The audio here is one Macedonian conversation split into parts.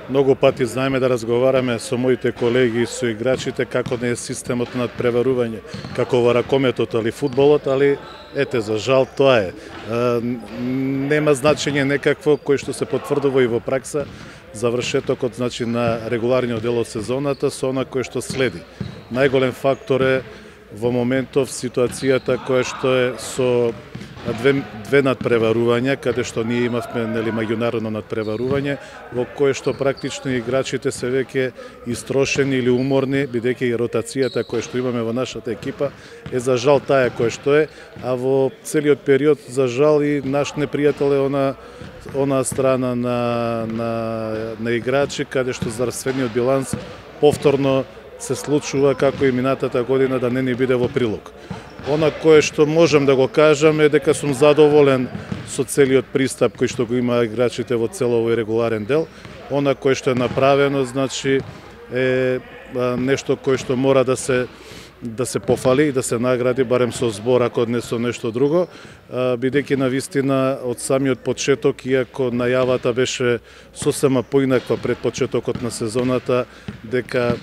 Многу пати знаеме да разговараме со моите колеги и со играчите како не е системот на надпреварување, како во ракометот или фудбалот, али ете, за жал тоа е. Нема значење некакво кој што се потврдува и во пракса, завршетокот значи на регуларниот дел од сезоната со она кој што следи. Најголем фактор е во моментов ситуацијата која што е со две надпреварувања, каде што ние имавме меѓународно надпреварување, во кое што практично играчите се веќе истрошени или уморни, бидејќи и ротацијата која што имаме во нашата екипа е за жал таа која што е, а во целиот период за жал и наш непријател е она страна на играчи, каде што здравствениот биланс повторно се случува како и минатата година да не ни биде во прилог. Она кое што можам да го кажам е дека сум задоволен со целиот пристап кој што го има играчите во цел овој регуларен дел. Она кое што е направено, значи е нешто кое што мора да се пофали и да се награди барем со збор, ако не со нешто друго, бидејќи навистина од самиот почеток, иако најавата беше сосема поинаква пред почетокот на сезоната, дека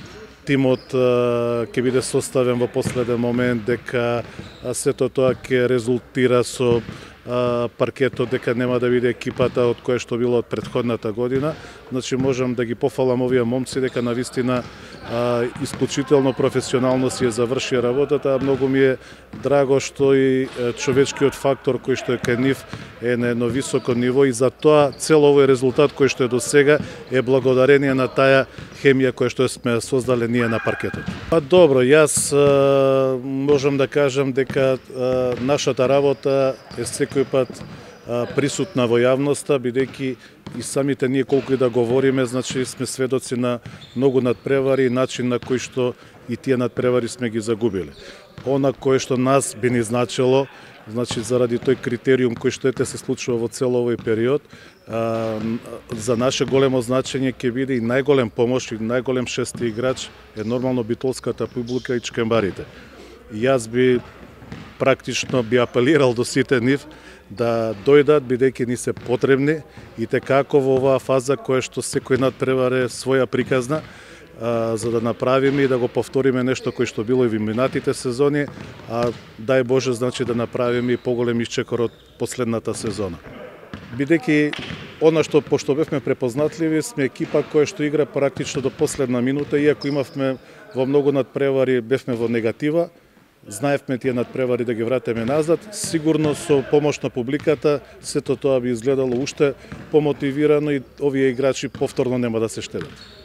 тимот ќе биде составен во последен момент, дека сето тоа ќе резултира со паркетот, дека нема да биде екипата од која што било од претходната година. Значи можам да ги пофалам овие момци дека навистина исклучително професионално си ја заврши работата, а многу ми е драго што и човечкиот фактор кој што е кај нив е на едно високо ниво и за тоа цел овој резултат кој што е до сега е благодарение на таа хемија која што сме создале ние на паркетот. Па добро, јас можам да кажам дека нашата работа е секој пат присутна во јавноста, бидејќи и самите ние колку и да говориме, значи сме сведоци на многу надпревари и начин на кој што и тие надпревари сме ги загубиле. Она кое што нас би ни значило, значи заради тој критериум кој што се случува во цел овој период, за наше големо значење ќе биде и најголем помош и најголем шести играч е нормално битолската публика и чкембарите. Јас би практично би апелирал до сите нив да дојдат, бидејќи ни се потребни и текако во оваа фаза која што секој надпревар е своја приказна, за да направиме и да го повториме нешто кој што било и во минатите сезони, а дај Боже значи да направиме и поголем исчекор од последната сезона. Бидејќи она што пошто бевме препознатливи, сме екипа која што игра практично до последна минута, иако имавме во многу надпревари бевме во негатива, знаевме тие надпревари да ги вратиме назад, сигурно со помош на публиката сето тоа би изгледало уште помотивирано и овие играчи повторно нема да се штедат.